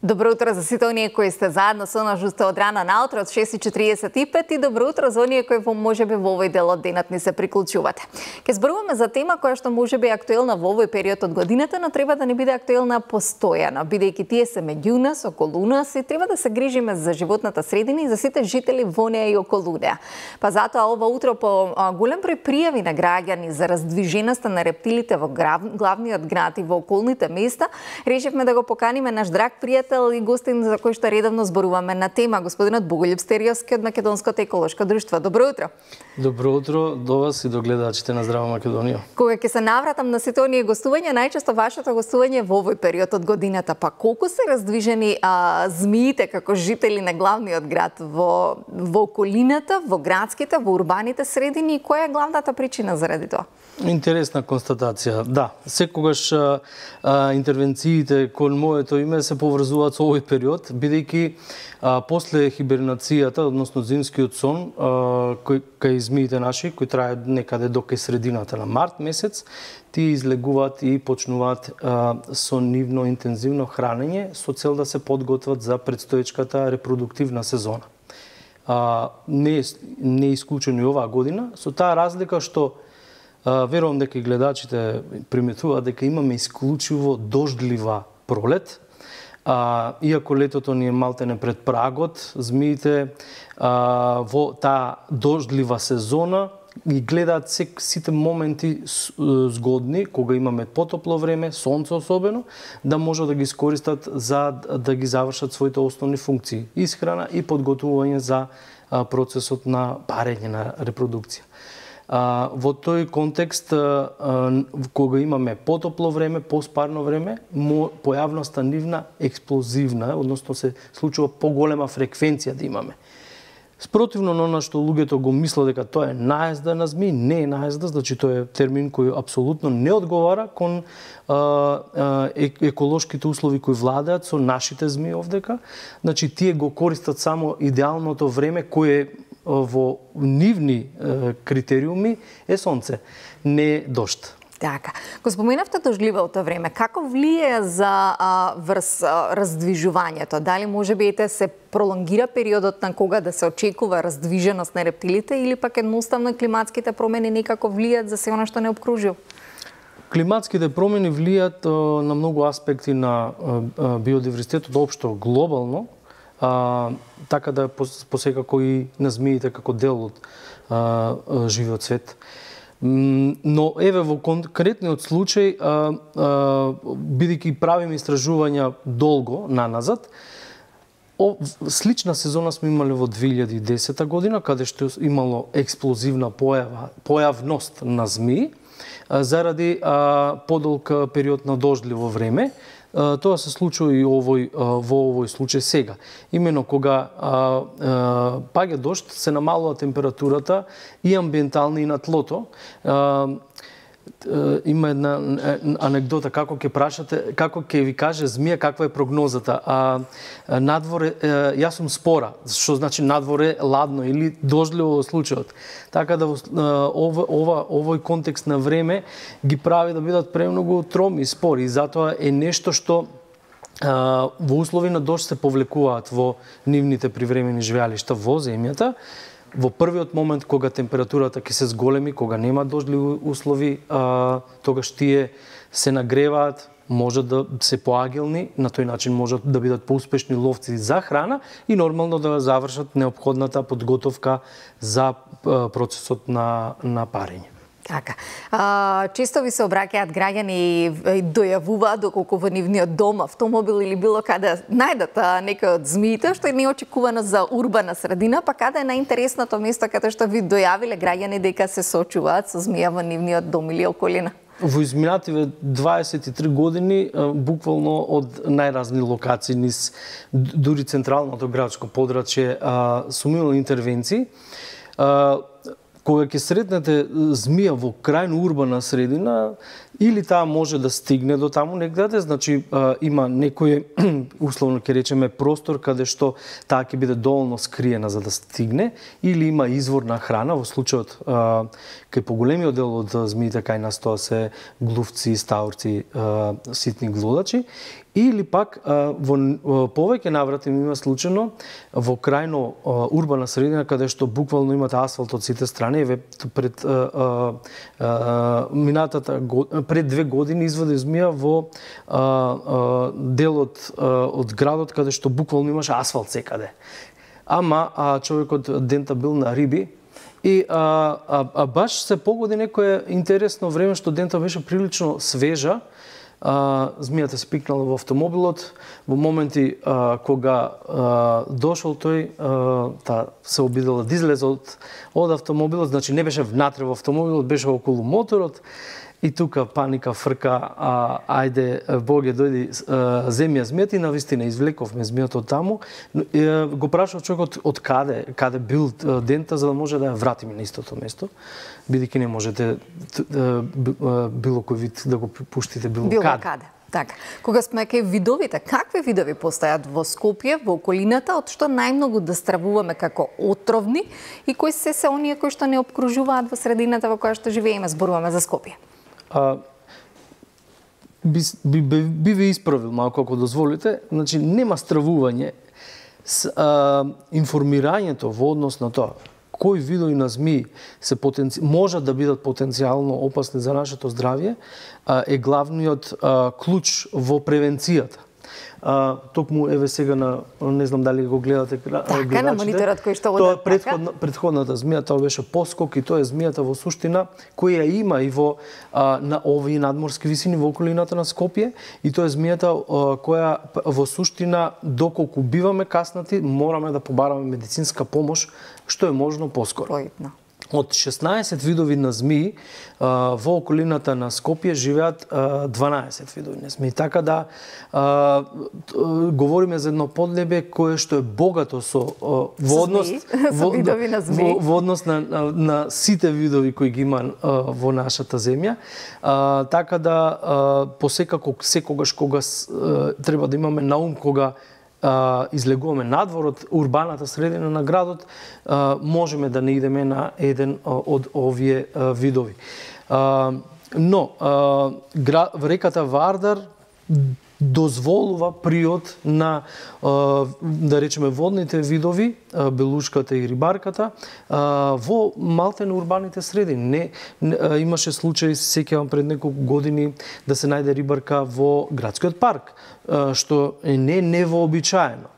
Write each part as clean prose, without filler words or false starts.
Добро утро за сите оние кои сте заедно со нас уште од рана наутро од 6:45 и добро утро за оние кои можеби во овој дел од денот ни се приклучувате. Ке зборуваме за тема која што можеби е актуелна во овој период од годината, но треба да не биде актуелна постојано, бидејќи тие се меѓу нас, околу нас и треба да се грижиме за животната средина и за сите жители во неа и околу неа. Па затоа ова утро по голем број пријави на граѓани за раздвиженоста на рептилите во главниот град и во околните места, решивме да го поканиме наш драг пријател и гостин за кој што редовно зборуваме на тема, господинот Боголјуб Стериовски од Македонското еколошко друштво. Добро утро. Добро утро до вас и до гледачите на Здрава Македонија. Кога ќе се навратам на сите оние гостувања, најчесто вашето гостување во овој период од годината, па колку се раздвижени змиите како жители на главниот град во околината, во градските, во урбаните средини и која е главната причина заради тоа? Интересна констатација. Да, секогаш интервенциите кон моето име се поврзуваат со овој период, бидејќи после хибернацијата, односно зимскиот сон, кај змиите наши, кои трае некаде до кај средината на март месец, тие излегуваат и почнуваат со нивно интензивно хранење со цел да се подготват за предстоечката репродуктивна сезона. Не е исклучено и оваа година, со таа разлика што верувам дека и гледачите приметуваат дека имаме исклучиво дождлива пролет. Иако летото ни е малтене пред прагот, змиите во таа дождлива сезона ги гледаат сите моменти згодни, кога имаме потопло време, сонце особено, да може да ги искористат за да ги завршат своите основни функции, исхрана и подготвување за процесот на парење на репродукција. Во тој контекст, кога имаме потопло време, поспарно време, појавноста нивна експлозивна, односно се случува поголема фреквенција да имаме. Спротивно на она што луѓето го мислат дека тоа е наезда на змии, не е наезда, значи тоа е термин кој апсолутно не одговара кон еколошките услови кои владеат со нашите змии овдека. Значи тие го користат само идеалното време кое во нивни критериуми е сонце, не е дожд. Така. Го споменавте дождливото време. Како влие за врз раздвижувањето? Дали можеби се пролонгира периодот на кога да се очекува раздвиженост на рептилите или пак едноставно климатските промени некако влијат за се она што не обкружува? Климатските промени влијат на многу аспекти на биодиверзитетот општо глобално, така да посекако и на змиите како дел од живиот свет. Но еве во конкретниот случај, бидејќи правиме истражувања долго наназад, слична сезона сме имале во 2010 година, каде што имало експлозивна појавност на змии, заради подолг период на дождливо време. Тоа се случува и во овој случај сега. Имено кога паѓа дожд, се намалува температурата и амбиентална и на тлото. Има една анекдота, како ќе прашате, како ќе ви каже змија каква е прогнозата. Надвор јас сум спора, што значи надвор е ладно или дождливо во случајот. Така да овој контекст на време ги прави да бидат премногу троми и спори и затоа е нешто што во услови на дожд се повлекуваат во нивните привремени живеалишта во земјата. Во првиот момент кога температурата ќе се зголеми, кога нема дождливи услови, тогаш тие се нагреваат, можат да се поагилни, на тој начин можат да бидат поуспешни ловци за храна и нормално да завршат неопходната подготовка за процесот на парење. Така. Често ви се обраќаат граѓани и дојавуваат доколку во нивниот дом, автомобил или било каде најдат некој од змиите, што е неочекувано за урбана средина, па каде е најинтересното место каде што ви дојавиле граѓани дека се сочуваат со змија во нивниот дом или околина? Во изминативе 23 години, буквално од најразни локации низ дури централното градско подрачје сум имал интервенции. Кога ќе сретнете змија во крајно урбана средина, или таа може да стигне до таму негде, значи има некој условно ќе речеме простор каде што таа ќе биде доволно скриена за да стигне, или има извор на храна, во случајот кај поголемиот дел од змиите кај нас тоа се глувци, стаурци, ситни глодачи, или пак во повеќе наврати има случајно во крајно урбана средина каде што буквално имате асфалт од сите страни. Пред пред 2 години извади змија во делот од градот каде што буквално имаше асфалт секаде. Ама човекот дента бил на риби и баш се погоди некое интересно време што дента беше прилично свежа. Змијата се пикнала во автомобилот, во моменти кога дошол тој, таа се обидела да излезе од автомобилот, значи не беше внатре во автомобилот, беше околу моторот, и тука паника, фрка, ајде, Боге, дојди, земи ја змијата, и навистина извлековме змијата од таму. Го прашав човекот од каде бил дента, за да може да ја вратиме на истото место, бидејќи не можете било кој вид да го пуштите било каде. Така. Кога сме кај видовите, какви видови постојат во Скопје, во околината, од што најмногу да стравуваме како отровни и кои се оние кои што не обкружуваат во средината во која што живееме, зборуваме за Скопје? Би ве исправил малку, ако дозволите. Значи, нема стравување. Информирањето во однос на тоа кои видови на змии можат да бидат потенцијално опасни за нашето здравје е главниот клуч во превенцијата. Токму еве сега не знам дали го гледате гледачите. На мониторот кој што тоа предходната змија, тоа беше поскок, и тоа е змијата во суштина која има и во на овие надморски висини во околината на Скопје, и тоа е змијата која во суштина доколку биваме каснати мораме да побараме медицинска помош што е можно поскоро. Од 16 видови на змии во околината на Скопје живеат 12 видови на змии. Така да говориме за едно подлебе кое што е богато во однос на сите видови кои ги има во нашата земја. Така да посекако секогаш кога треба да имаме на ум кога излегуваме надвор од урбаната средина на градот, можеме да не идеме на еден од овие видови. Но реката Вардар дозволува приот на, да речеме, водните видови, белушката и рибарката, во малте на урбаните средини. Имаше случај, сеќавам пред неколку години, да се најде рибарка во градскиот парк, што не невообичаено.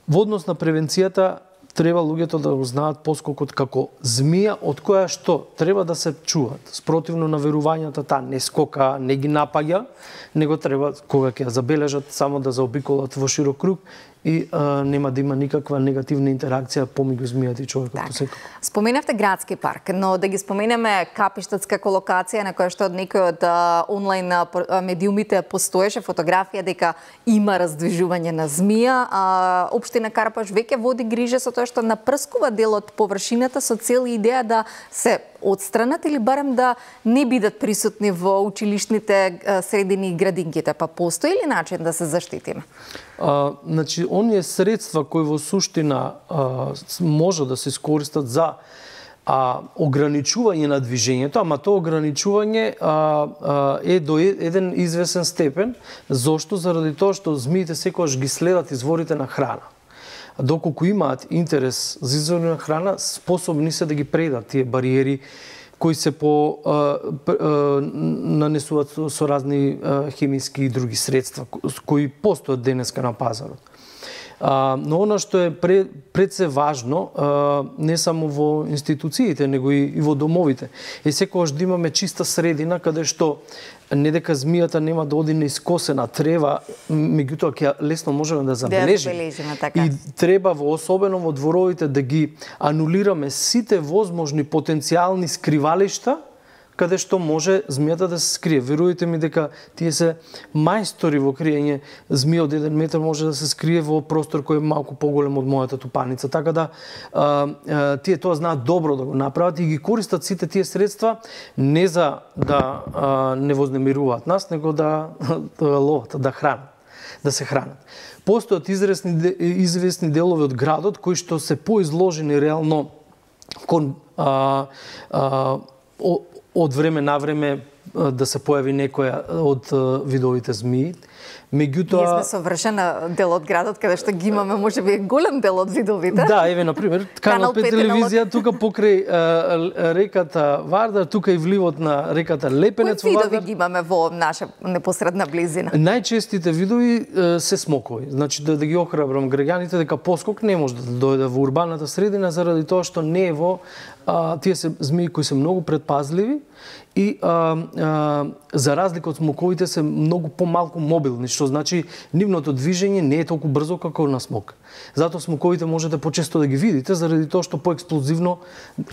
Во однос на превенцијата, треба луѓето да го знаат поскокот како змија од која што треба да се чуваат. Спротивно на верувањата, таа не скока, не ги напаѓа, него треба кога ќе ја забележат само да заобиколат во широк круг и нема да има никаква негативна интеракција помеѓу змијата и човекот посекако. Споменавте градски парк, но да ги споменеме Капиштадска локација на која што од некој од онлайн медиумите постоеше фотографија дека има раздвижување на змија. Општина Карпаш веќе води грижа со тоа што напрскува дел од површината со цел и идеја да се отстранат или барем да не бидат присутни во училишните средини и градинките. Па постои ли начин да се заштитиме? Значи, оние средства кои во суштина може да се искористат за ограничување на движењето, ама тоа ограничување е до еден извесен степен. Зошто? Заради тоа што змиите секогаш ги следат изворите на храна. Доколку имаат интерес за извори на храна, способни се да ги предат тие бариери кои се нанесуваат со разни хемиски и други средства кои постојат денеска на пазарот. Но она што е пред се важно, не само во институциите, него и во домовите, е секогаш да имаме чиста средина каде што не дека змијата нема да оди на искосена трева, меѓутоа ќе лесно можеме да забележиме. И треба особено во дворовите да ги анулираме сите возможни потенцијални скривалишта каде што може змијата да се скрие. Верујте ми дека тие се мајстори во криење. Змија од 1 метар може да се скрие во простор кој е малку поголем од мојата тупаница. Така да тие тоа знаат добро да го направат и ги користат сите тие средства не за да не вознемируваат нас, него да ловат, да хранат, да се хранат. Постојат известни делови од градот кои што се поизложени реално кон од време на време да се појави некоја од видовите змии. Меѓутоа, ние сме совршена дел од градот каде што ги имаме, можеби голем дел од видовите. Да, еве на пример, Канал 5 телевизија тука покрај реката Вардар, тука и вливот на реката Лепенец во Вардар. Кои видови ги имаме во наша непосредна близина? Најчестите видови се смокови. Значи да ги охрабрам граѓаните дека поскок не може да дојде во урбаната средина заради тоа што не е во тие се змии кои се многу предпазливи и за разлика од смоковите се многу помалку мобилни, што значи нивното движење не е толку брзо како на смок. Затоа смоковите можете почесто да ги видите заради тоа што поексплозивно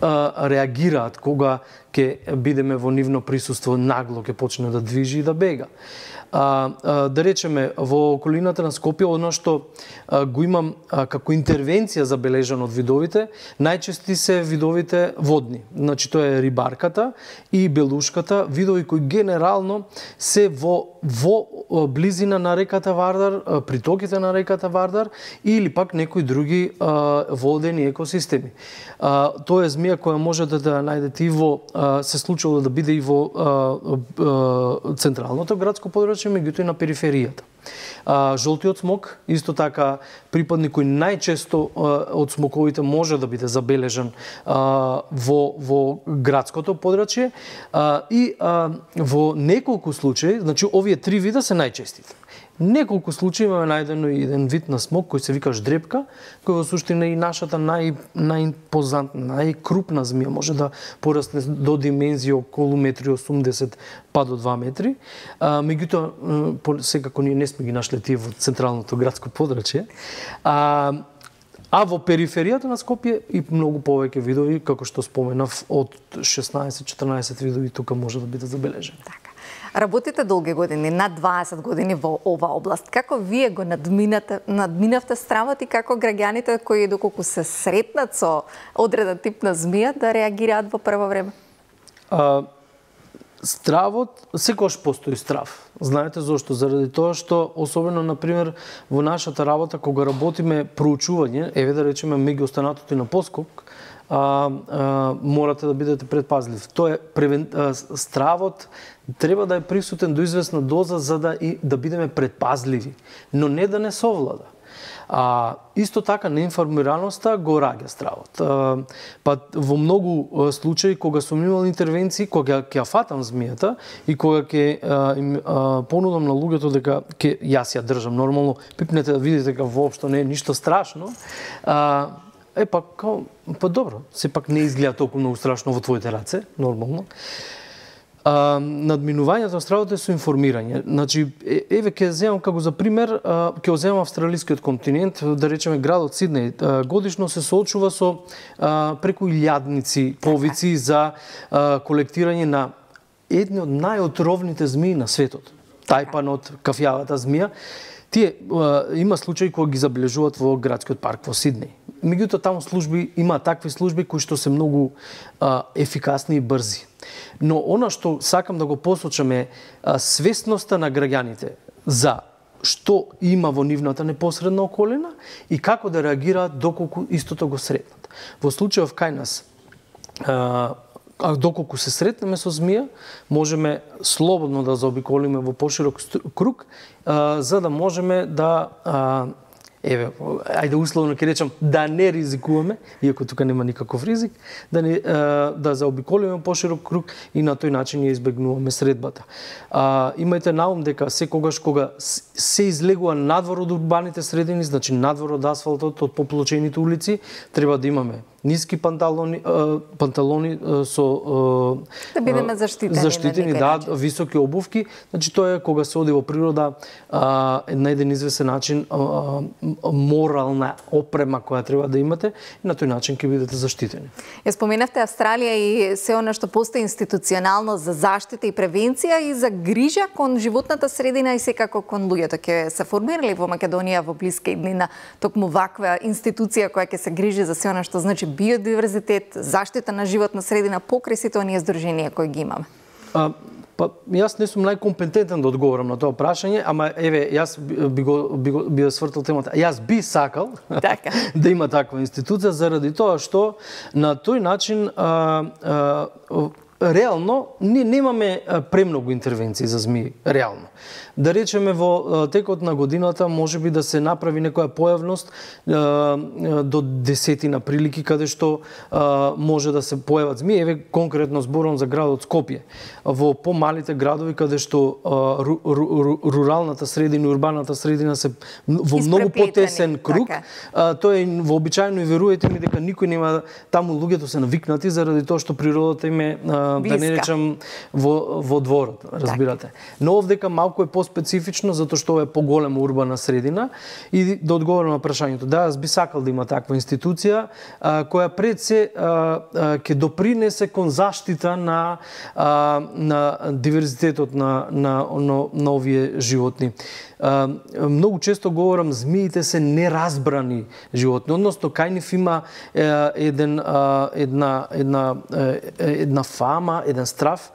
реагираат кога ќе бидеме во нивно присуство, нагло ќе почне да движи и да бега. Да речеме, во околината на Скопје, оно што го имам како интервенција забележано од видовите, најчести се видовите водни. Значи, тоа е рибарката и белушката, видови кои генерално се во близина на реката Вардар, притоките на реката Вардар или пак некои други водени екосистеми. Тоа е змија која можете да најдете и во, се случило да биде и во централното градско подрачје, меѓутоа и на периферијата. Жолтиот смок, исто така припадник кој најчесто од смоковите може да биде забележан во градското подрачје и во неколку случаи, значи овие 3 вида се најчестите. Неколку случаи имаме најдено и еден вид на смок кој се вика ждрепка, кој во суштина и нашата најимпозантна, најкрупна змија, може да порасне до димензија околу 1,80 м па до 2 метри. Меѓутоа, секако ние не сме ги нашле тие во централното градско подрачје. А во периферијата на Скопје и многу повеќе видови, како што споменав, од 16-14 видови тука може да биде забележени. Така. Работите долги години, над 20 години во ова област. Како вие го надминавте стравот и како граѓаните кои доколку се сретнат со одреден тип на змија да реагираат во прво време? Стравот, секогаш постои страв. Знаете зошто? Заради тоа што, особено, например, во нашата работа, кога работиме проучување, еве да речеме меѓу останатото и на поскок, морате да бидете предпазлив. Тоа е стравот треба да е присутен до известна доза за да бидеме предпазливи, но не да не совлада. Исто така неинформираноста го раѓа стравот. Па во многу случаи кога сум имал интервенции, кога ќе ја фатам змијата и кога ќе им понудам на луѓето дека ќе јас ја држам нормално, пипнете да видите дека воопшто не е ништо страшно. Па добро, сепак не изгледа толку многу страшно во твоите раце, нормално. Надминувањето на стравот е со информирање. Значи, еве ќе земам како за пример, ќе земам австралискиот континент, да речеме градот Сиднеј, годишно се соочува со преку 1000 повици за колектирање на едни од најотровните змии на светот. Тајпанот, кафјавата змија. Тие има случаи кои ги забележуваат во градскиот парк во Сиднеј. Меѓутоа таму има такви служби кои што се многу ефикасни и брзи. Но она што сакам да го посочам е свесноста на граѓаните за што има во нивната непосредна околина и како да реагираат доколку истото го сретнат. Во случајов кај нас, доколку се сретнеме со змија, можеме слободно да заобиколиме во поширок круг, за да можеме да ајде условно ќе речам, да не ризикуваме, иако тука нема никаков ризик, да заобиколиме поширок круг и на тој начин ја избегнуваме средбата. Имајте на ум дека секогаш кога се излегува надвор од урбаните средини, значи надвор од асфалтот, од поплочените улици, треба да имаме ниски панталони со да бидеме заштитени, да, високи обувки. Значи тоа е кога се оди во природа на еден известен начин морална опрема која треба да имате и на тој начин ќе бидете заштитени. Ја споменавте Австралија и се она што постои институционално за заштита и превенција и за грижа кон животната средина и секако кон луѓето. Ќе се формирали во Македонија во блиска иднина токму ваква институција која ќе се грижи за се она што значи биодиверзитет, заштита на животна средина покрај сите оние здруженија кои ги имаме? Па, јас не сум најкомпетентен да одговорам на тоа прашање, ама еве, јас би свртал темата. Јас би сакал да има таква институција заради тоа што на тој начин реално ние немаме премногу интервенции за змии, реално. Да речеме во текот на годината можеби да се направи некоја појавност до 10 прилики каде што може да се појават змии. Еве конкретно зборам за градот Скопје. Во помалите градови каде што руралната средина и урбаната средина се во многу потесен круг, тоа е вообичаено и верувајте ми дека никој нема таму, луѓето се навикнати заради тоа што природата им е да не речам во дворот, разбирате. Но овдека малку е специфично затоа што е поголема урбана средина и да одговорам на прашањето. Да, јас би сакал да има таква институција која пред се ќе допринесе кон заштита на диверзитетот на овие животни. Многу често говорам, змиите се неразбрани животни, односно кај нив има една фама, еден страв.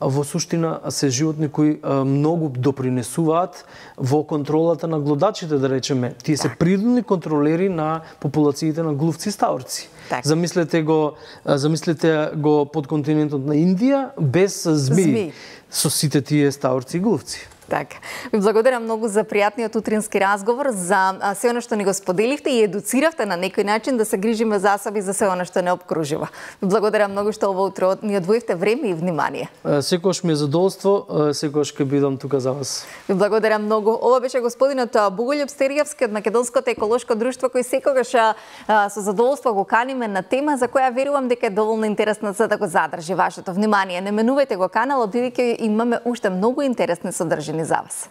Во суштина се животни кои многу допринесуваат во контролата на глодачите, да речеме. Тие се природни контролери на популациите на глувци и ставорци. Замислете го подконтинентот на Индија без змии со сите тие ставорци и глувци. Така. Ви благодарам многу за пријатниот утрински разговор, за се она што ни го споделивте и едуциравте на некој начин да се грижиме за себе и за се она што не обкружува. Ви благодарам многу што ова утро ни одвоивте време и внимание. Секогаш ми е задоволство, секогаш ќе бидам тука за вас. Ви благодарам многу. Ова беше господинот Боголјуб Стеријевски од Македонското еколошко друштво, кој секогаш со задоволство го каниме на тема за која верувам дека е доволно интересна за да го задржи вашето внимание. Не менувајте го каналот, бидејќи имаме уште многу интересни содржини за вас.